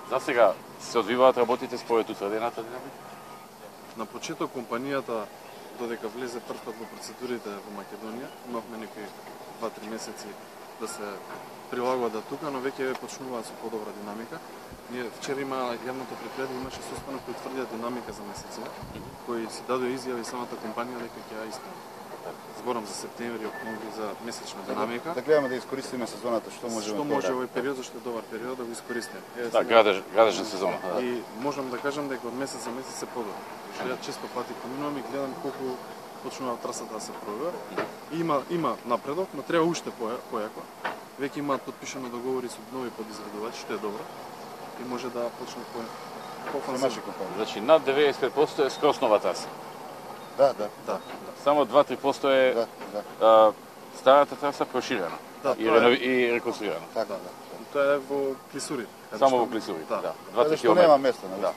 За сега се одвиваат работите според утврдената динамика? На почеток компанијата, додека влезе првпат во процедурите во Македонија, имавме некои 2-3 месеци да се прилагода тука, но веќе почнуваат со подобра динамика. Ние вчера има јавното предпријатие, имаше состанок кој тврдија динамика за месеците, кои си дадоа изјави самата компанија дека ќе ја исполни. Зборам за септември, октомври, за месечна динамика. Да гледаме да искористиме сезоната, што можеме. Што може овој период, зашто е добар период да го искористиме. Да, градежна сезона. И можам да кажам дека од месец за месец се подобри. Ја често пати поминувам и гледам колку почнува трасата да се пробива. Има напредок, но треба уште појако. Веќе имаат подпишано договори со нови подизградувачи, што е добро. И може да почне по-фанзивно. Значи над 95% е скрос нова траса. Да. Само 2-3% е старата траса проширена и реконструирана. Така, Тоа е во Клисури. Само во Клисури, да. 2-3 км. Нема место, да.